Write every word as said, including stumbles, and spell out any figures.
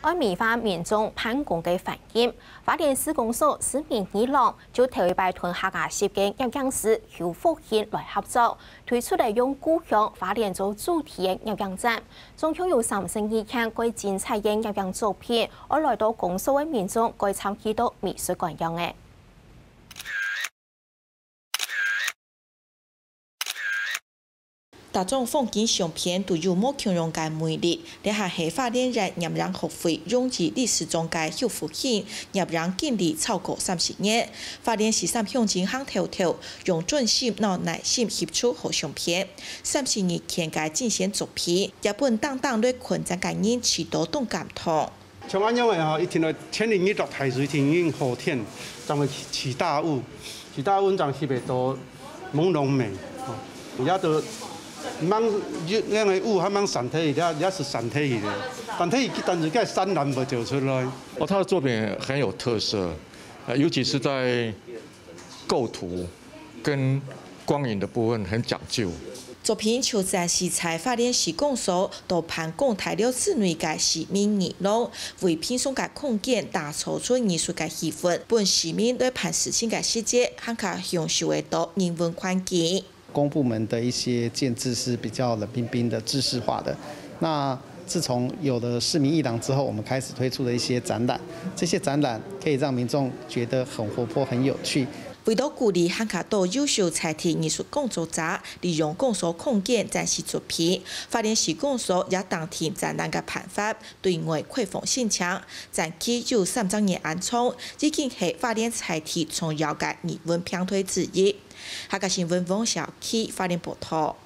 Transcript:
愛美化民眾辦公个環境。花蓮市公所市民李朗就頭一擺同客家籍个攝影師邱福興來合作，推出了用故鄉花蓮做主題个攝影展，總共有三十二件蓋精彩个攝影作品，愛來到公所个民眾蓋參與到美術館樣个。 逐張風景相片都有無共樣个魅力，這下係花蓮縣鹽埕學會榮譽理事長个邱福興攝影經歷超過三十年。花蓮十三鄉鎮行透透，用專心摎耐心翕出好相片。三十二件个精選作品，也分當當來看展个人試著當感動。 像恁樣个吼，一定愛千里一落大水天已經好天，正會起大霧，起大霧正翕會到朦朧美，吼。也都毋通，該个霧還毋通散忒去，也，也係散忒去个。散忒去，但是該山巒會走出來。哦，他的作品很有特色，呃，尤其是在構圖跟光影的部分很講究。作品就展示在花蓮市公所到辦公大樓之內个市民李朗，為平常个空間打造出藝術个氣氛，分市民來辦事情个時節，還較享受得到人文環境。公部門的一些建置是比較冷冰冰的、制式化的。那自從有了市民藝廊之後，我們開始推出的一些展覽，這些展覽可以讓民眾覺得很活潑、很有趣。 為著鼓勵還較多優秀在地藝術工作者利用公所空間展示作品，花蓮市公所也訂定展覽个辦法，對外開放申請。展期有三十日恁長，已經係花蓮在地重要个藝文平台之一。客家新聞王小琪花蓮報導。